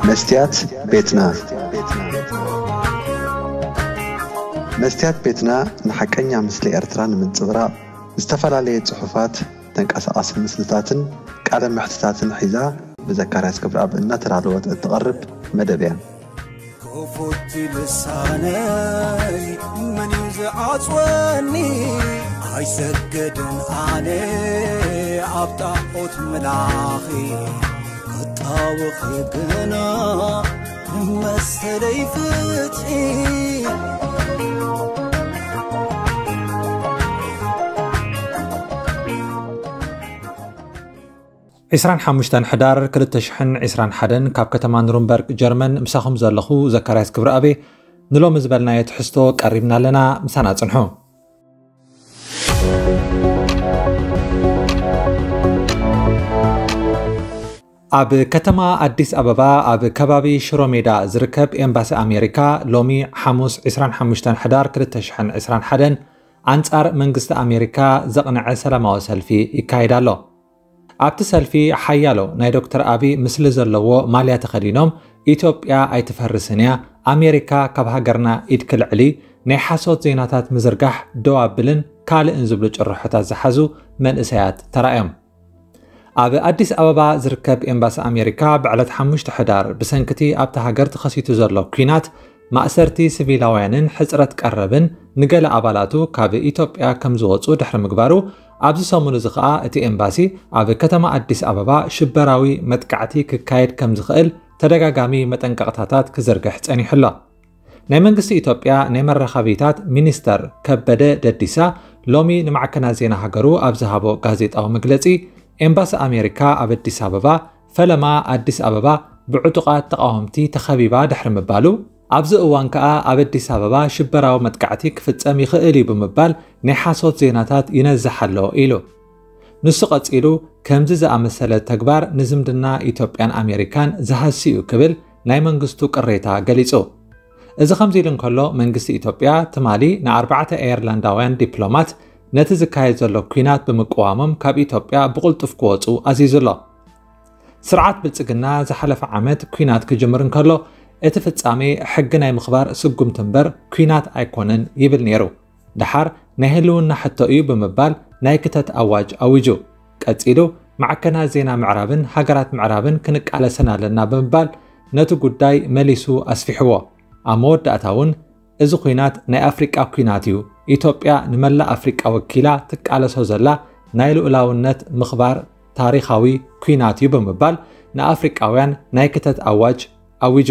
መስትያት ቤትና። መስትያት ቤትና ንሓቀኛ ምስሊ ኤርትራ ንምንጽብራቕ ዝተፈላለየ ጽሑፋት፣ ተንቀሳቓሲ ምስልታትን ቃለ መሕትታትን ሒዛ ብዘካርያስ ክብረኣብ እናተዳለወት እትቐርብ መደብ እያ። ክፉት ልሳነይ መን እዩ ዝዓጽወኒ? ኣይሰግድን ኣነ ኣብ ጣዖት ምላኺ፣ ክጣወኺ ግና መሰለይ ፍትሒ። ዕስራን ሓሙሽተን ሕዳር ክልተ ሽሕን ዕስራን ሓደን ካብ ከተማ ኑርንበርግ ጀርመን ምሳኹም ዘለኹ ዘካርያስ ክብረኣብ። ንሎሚ ዝበልናዮ ትሕዝቶ ቀሪብና ኣለና፣ ምሳና ጽንሑ። ኣብ ከተማ ኣዲስ ኣበባ ኣብ ከባቢ ሽሮ ሜዳ ዝርከብ ኤምባሲ ኣሜሪካ ሎሚ ሓሙስ ዕስራን ሓሙሽተን ሕዳር ክልተ ሽሕን ዕስራን ሓደን ኣንጻር መንግስቲ ኣሜሪካ ዘቕንዐ ሰላማዊ ሰልፊ ይካየድ ኣሎ። ኣብቲ ሰልፊ ሓያሎ ናይ ዶክተር ኣቢ ምስሊ ዘለዎ ማልያ ተኸዲኖም፣ "ኢትዮጵያ ኣይትፈርስን እያ፣ ኣሜሪካ ካብ ሃገርና ኢድ ክልዕል እዩ፣ ናይ ሓሶት ዜናታት ምዝርጋሕ ደው ኣብልን" ካልእን ዝብሉ ጭርሖታት ዝሓዙ መንእሰያት ተራእዮም። ኣብ ኣዲስ ኣበባ ዝርከብ ኤምባሲ ኣሜሪካ ብዕለት ሓሙሽተ ሕዳር ብሰንክቲ ኣብታ ሃገር ተኸሲቱ ዘሎ ኲናት፣ ማእሰርቲ ሲቪላውያንን ሕጽረት ቀረብን ንገለ ኣባላቱ ካብ ኢትዮጵያ ከም ዝወጹ ድሕሪ ምግባሩ፣ ኣብዚ ሰሙን እዚ ኸኣ እቲ ኤምባሲ ኣብ ከተማ ኣዲስ ኣበባ ሽበራዊ መጥቃዕቲ ክካየድ ከም ዝኽእል ተደጋጋሚ መጠንቀቕታታት ክዝርግሕ ጸኒሑ ኣሎ። ናይ መንግስቲ ኢትዮጵያ ናይ መራኸቢታት ሚኒስተር ከበደ ደዲሳ ሎሚ ንማዕከናት ዜና ሃገሩ ኣብ ዝሃቦ ጋዜጣዊ መግለጺ፣ ኤምባሲ ኣሜሪካ ኣብ ኣዲስ ኣበባ ፈለማ ኣዲስ ኣበባ ብዕጡቓት ተቓወምቲ ተኸቢባ ድሕሪ ምባሉ፣ ኣብዚ እዋን ከኣ ኣብ ኣዲስ ኣበባ ሽበራዊ መጥቃዕቲ ክፍጸም ይኽእል እዩ ብምባል ናይ ሓሶት ዜናታት ይነዝሕ ኣሎ ኢሉ። ንሱ ቀጺሉ፣ "ከምዚ ዝኣመሰለ ተግባር ንዝምድና ኢትዮጵያን ኣሜሪካን ዝሃሲ እዩ" ክብል ናይ መንግስቱ ቅሬታ ገሊጹ። እዚ ከምዚ ኢሉ እንከሎ፣ መንግስቲ ኢትዮጵያ ትማሊ ንኣርባዕተ ኣየርላንዳውያን ዲፕሎማት ነቲ ዝካየድ ዘሎ ኲናት ብምቅዋሞም ካብ ኢትዮጵያ ብቕልጡፍ ክወጹ ኣዚዙ ኣሎ። ስርዓት ብልጽግና ዝሓለፈ ዓመት ኲናት ክጅምር እንከሎ፣ እቲ ፍጻሜ ሕጊ ናይ ምኽባር ስጉምቲ እምበር ኲናት ኣይኮነን ይብል ነይሩ። ደሓር ናይ ህልውና ሕቶ እዩ ብምባል ናይ ክተት ኣዋጅ ኣዊጁ። ቀጺሉ፣ "ማዕከናት ዜና ምዕራብን ሃገራት ምዕራብን ክንቃለሰን ኣለና" ብምባል ነቲ ጉዳይ መሊሱ ኣስፊሕዎ። ኣብ መወዳእታ እውን፣ "እዚ ኲናት ናይ ኣፍሪቃ ኲናት እዩ፣ ኢትዮጵያ ንመላእ ኣፍሪቃ ወኪላ ትቃለሶ ዘላ ናይ ልኡላውነት ምኽባር ታሪኻዊ ኲናት እዩ" ብምባል ንኣፍሪቃውያን ናይ ክተት ኣዋጅ ኣዊጁ።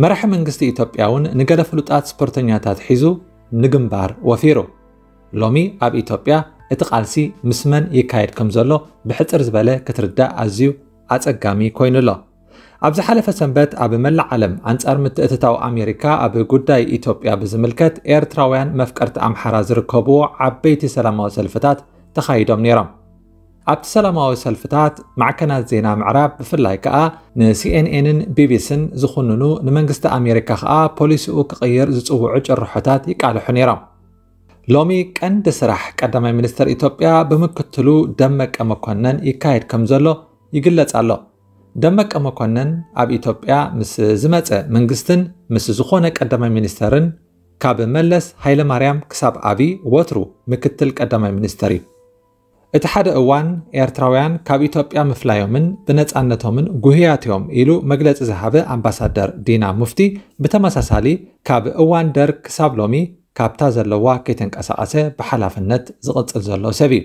መራሒ መንግስቲ ኢትዮጵያ እውን ንገለ ፍሉጣት ስፖርተኛታት ሒዙ ንግንባር ወፊሩ። ሎሚ ኣብ ኢትዮጵያ እቲ ቃልሲ ምስ መን ይካየድ ከም ዘሎ ብሕጽር ዝበለ ክትርዳእ ኣዝዩ ኣጸጋሚ ኮይኑ ኣሎ። ኣብ ዝሓለፈ ሰንበት ኣብ መላእ ዓለም ኣንጻር ምትእትታው ኣሜሪካ ኣብ ጉዳይ ኢትዮጵያ ብዝምልከት ኤርትራውያን መፍቀርቲ ኣምሓራ ዝርከብዎ ዓበይቲ ሰላማዊ ሰልፍታት ተኻይዶም ነይሮም። ኣብቲ ሰላማዊ ሰልፍታት ማዕከናት ዜና ምዕራብ ብፍላይ ከኣ ንሲኤንኤንን ቢቢስን ዝኹንኑ፣ ንመንግስቲ ኣሜሪካ ከኣ ፖሊሲኡ ክቕይር ዝጽውዑ ጭርሖታት ይቃልሑ ነይሮም። ሎሚ ቀንዲ ስራሕ ቀዳማይ ሚኒስተር ኢትዮጵያ ብምክትሉ ደመቀ መኮነን ይካየድ ከም ዘሎ ይግለጽ ኣሎ። ደመቀ መኮነን ኣብ ኢትዮጵያ ምስ ዝመጸ መንግስትን ምስ ዝኾነ ቀዳማይ ሚኒስተርን ካብ መለስ ሃይለማርያም ክሳብ ኣቢ ወትሩ ምክትል ቀዳማይ ሚኒስተር እዩ። እቲ ሓደ እዋን ኤርትራውያን ካብ ኢትዮጵያ ምፍላዮምን ብነጻነቶምን ጉህያት እዮም ኢሉ መግለጺ ዝሃበ ኣምባሳደር ዲና ሙፍቲ ብተመሳሳሊ ካብ እዋን ደርግ ክሳብ ሎሚ ካብታ ዘለዋ ከይተንቀሳቐሰ ብሓላፍነት ዝቕጽል ዘሎ ሰብ እዩ።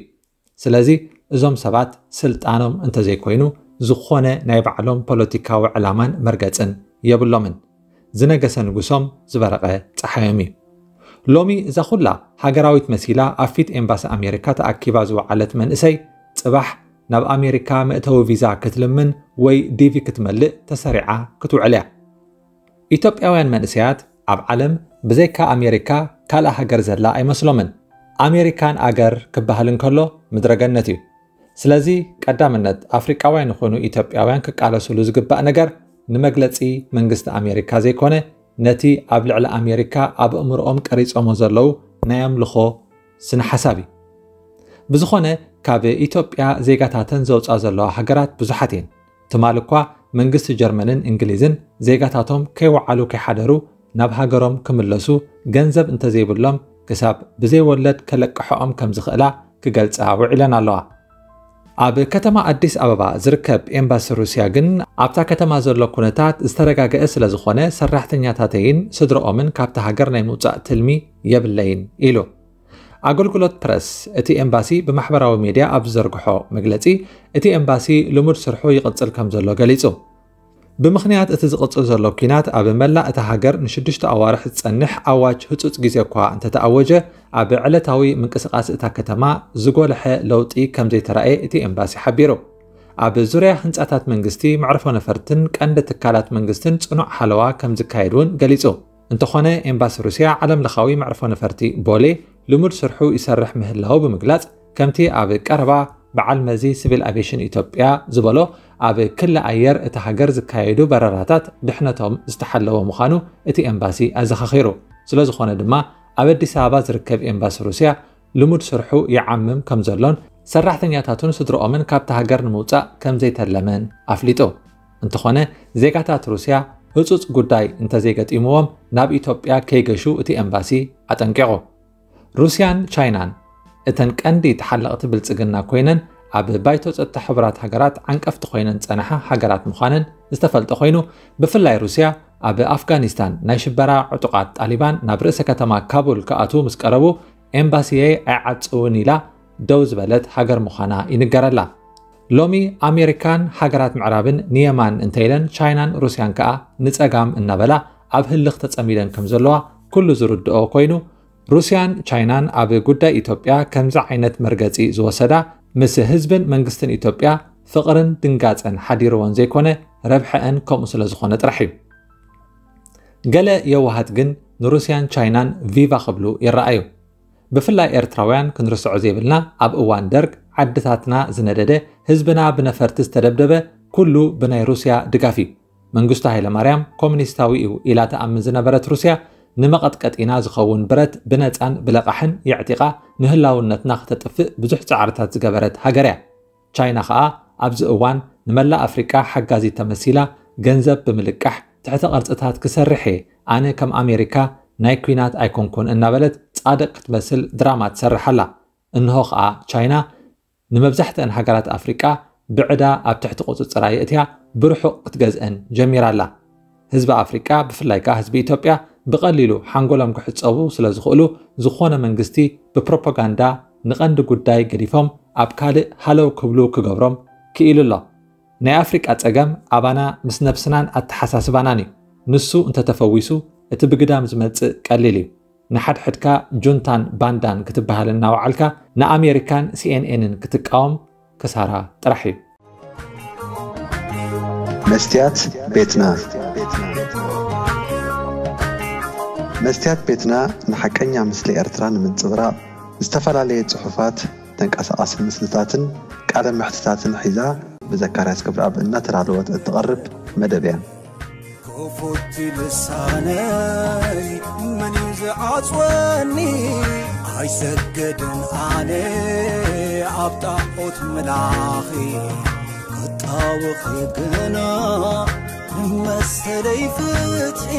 ስለዚ እዞም ሰባት ስልጣኖም እንተዘይኮይኑ ዝኾነ ናይ ባዕሎም ፖለቲካዊ ዕላማን መርገጽን የብሎምን። ዝነገሰ ንጉሶም ዝበረቐ ጸሓዮም እዩ። ሎሚ እዛ ኩላ ሃገራዊት መሲላ ኣብ ፊት ኤምባሲ ኣሜሪካ ተኣኪባ ዝወዓለት መንእሰይ ጽባሕ ናብ ኣሜሪካ መእተዊ ቪዛ ክትልምን ወይ ዲቪ ክትመልእ ተሰሪዓ ክትውዕል እያ። ኢትዮጵያውያን መንእሰያት ኣብ ዓለም ብዘይካ ኣሜሪካ ካልእ ሃገር ዘላ ኣይመስሎምን። ኣሜሪካን ኣገር ክበሃል እንከሎ ምድረገነት እዩ። ስለዚ ቀዳምነት ኣፍሪቃውያን ይኹኑ ኢትዮጵያውያን ክቃለሱሉ ዝግባእ ነገር ንመግለጺ መንግስቲ ኣሜሪካ ዘይኮነ ነቲ ኣብ ልዕሊ ኣሜሪካ ኣብ ኣእምሮኦም ቀሪጾሞ ዘለዉ ናይ ኣምልኾ ስነ ሓሳብ እዩ። ብዝኾነ ካብ ኢትዮጵያ ዜጋታተን ዘውፅኣ ዘለዋ ሃገራት ብዙሓት እየን። ትማል እኳ መንግስቲ ጀርመንን እንግሊዝን ዜጋታቶም ከይወዓሉ ከይሓደሩ ናብ ሃገሮም ክምለሱ ገንዘብ እንተዘይብሎም ክሳብ ብዘይወለድ ከለቅሖኦም ከም ዝኽእላ ክገልጻ ውዒለን ኣለዋ። ኣብ ከተማ ኣዲስ ኣበባ ዝርከብ ኤምባሲ ሩስያ ግን ኣብታ ከተማ ዘሎ ኩነታት ዝተረጋገአ ስለ ዝኾነ ሰራሕተኛታተይን ስድረኦምን ካብታ ሃገር ናይ ምውጻእ ትልሚ የብለይን ኢሉ። ኣገልግሎት ፕረስ እቲ ኤምባሲ ብማሕበራዊ ሜድያ ኣብ ዝዘርግሖ መግለጺ፣ እቲ ኤምባሲ ልሙድ ስርሑ ይቕጽል ከም ዘሎ ገሊጹ። ብምኽንያት እቲ ዝቕጽል ዘሎ ኲናት ኣብ መላእ እታ ሃገር ንሽዱሽተ ኣዋርሕ ዝጸንሕ ኣዋጅ ህጹጽ ግዜ እኳ እንተተኣወጀ፣ ኣብ ዕለታዊ ምንቅስቓስ እታ ከተማ ዝጎልሐ ለውጢ ከም ዘይተራእየ እቲ ኤምባሲ ሓቢሩ። ኣብ ዙርያ ህንጻታት መንግስቲ፣ መዕርፎ ነፈርትን ቀንዲ ትካላት መንግስትን ጽኑዕ ሓለዋ ከም ዝካየድ እውን ገሊጹ። እንተኾነ፣ ኤምባሲ ሩስያ ዓለም ለኻዊ መዕርፎ ነፈርቲ ቦሌ ልሙድ ስርሑ ይሰርሕ ምህላው ብምግላጽ፣ ከምቲ ኣብ ቀረባ በዓል መዚ ሲቪል ኣቪዬሽን ኢትዮጵያ ዝበሎ፣ ኣብ ክሊ ኣየር እታ ሃገር ዝካየዱ በረራታት ድሕነቶም ዝተሓለወ ምዃኑ እቲ ኤምባሲ ኣዘኻኺሩ። ስለ ዝኾነ ድማ፣ ኣብ ኣዲስ ኣበባ ዝርከብ ኤምባሲ ሩስያ ልሙድ ስርሑ ይዓምም ከም ዘሎን ሰራሕተኛታቱን ስድረኦምን ካብታ ሃገር ንምውጻእ ከም ዘይተለመን ኣፍሊጡ። እንተኾነ፣ ዜጋታት ሩስያ ህጹጽ ጉዳይ እንተዘይገጢምዎም ናብ ኢትዮጵያ ከይገሹ እቲ ኤምባሲ ኣጠንቂቑ። ሩስያን ቻይናን እተን ቀንዲ ተሓለቕቲ ብልጽግና ኮይነን ኣብ ባይቶ ጸጥታ ሕቡራት ሃገራት ዓንቀፍቲ ኮይነን ዝጸንሓ ሃገራት ምዃነን ዝተፈልጠ ኮይኑ፣ ብፍላይ ሩስያ ኣብ ኣፍጋኒስታን ናይ ሽበራ ዕጡቓት ጣሊባን ናብ ርእሰ ከተማ ካቡል ክኣትዉ ምስ ቀረቡ፣ ኤምባሲየይ ኣይዓጽውን ኢላ ደው ዝበለት ሃገር ምዃና ይንገረላ። ሎሚ ኣሜሪካን ሃገራት ምዕራብን ንየማን እንተኢለን፣ ቻይናን ሩስያን ከኣ ንጸጋም እናበላ ኣብ ህልኽ ተጸሚደን ከም ዘለዋ ኩሉ ዝርድኦ ኮይኑ፣ ሩስያን ቻይናን ኣብ ጉዳይ ኢትዮጵያ ከምዚ ዓይነት መርገጺ ዝወሰዳ፣ ምስ ህዝብን መንግስትን ኢትዮጵያ ፍቕርን ድንጋጸን ሓዲርወን ዘይኮነ፣ ረብሐአን ከምኡ ስለ ዝኾነ ጥራሕ እዩ። ገለ የዋሃት ግን ንሩስያን ቻይናን ቪቫ ክብሉ ይረኣዩ። ብፍላይ ኤርትራውያን ክንርስዖ ዘይብልና፣ ኣብ እዋን ደርግ ዓድታትና ዝነደደ፣ ህዝብና ብነፈርቲ ዝተደብደበ፣ ኩሉ ብናይ ሩስያ ድጋፍ እዩ። መንግስቱ ሃይለማርያም ኮሙኒስታዊ እዩ ኢላ ትኣምን ዝነበረት ሩስያ፣ ንመቐጥቀጢና ዝኸውን ብረት ብነጻን ብለቓሕን የዕጢቓ ንህላውነትና ክተጥፍእ ብዙሕ ጻዕርታት ዝገበረት ሃገር እያ። ቻይና ኸኣ ኣብዚ እዋን ንመላእ ኣፍሪቃ ሓጋዚት ተመሲላ፣ ገንዘብ ብምልቃሕ፣ ትሕተ ቅርጽታት ክሰርሕ እየ፣ ኣነ ከም ኣሜሪካ ናይ ኲናት ኣይኮንኩን እናበለት ጻድቕ ክትመስል ድራማ ትሰርሕ ኣላ። እንሆ ኸኣ ቻይና ንመብዛሕትአን ሃገራት ኣፍሪቃ ብዕዳ ኣብ ትሕቲ ቁጽጽራ የእትያ ብርሑቕ ክትገዝአን ጀሚራ ኣላ። ህዝቢ ኣፍሪቃ፣ ብፍላይ ከኣ ህዝቢ ኢትዮጵያ፣ ብቐሊሉ ሓንጎሎም ክሕጸቡ ስለ ዝኽእሉ፣ ዝኾነ መንግስቲ ብፕሮፓጋንዳ ንቐንዲ ጉዳይ ገዲፎም ኣብ ካልእ ሃለው ክብሉ ክገብሮም ክኢሉ ኣሎ። ናይ ኣፍሪቃ ጸገም ኣባና ምስ ነብስናን ኣተሓሳስባናን እዩ። ንሱ እንተተፈዊሱ፣ እቲ ብግዳም ዝመጽእ ቀሊል እዩ። ንሓድሕድካ ጁንታን ባንዳን ክትበሃል እናወዓልካ፣ ንኣሜሪካን ሲ ኤን ኤንን ክትቃወም ክሳራ ጥራሕ እዩ። መስትያት ቤትና። መስትያት ቤትና ንሓቀኛ ምስሊ ኤርትራ ንምንጽብራቕ፣ ዝተፈላለየ ጽሑፋት፣ ተንቀሳቓሲ ምስልታትን ቃለ መሕትታትን ሒዛ ብዘካርያስ ገብረኣብ እናተዳለወት እትቐርብ መደብ እያ። ክፉት ልሳነይ መን እዩ ዝዓጽወኒ? ኣይሰግድን ኣነ ኣብ ጣዖት ምላኺ፣ ክጣወኺ ግና መሰለይ ፍትሒ።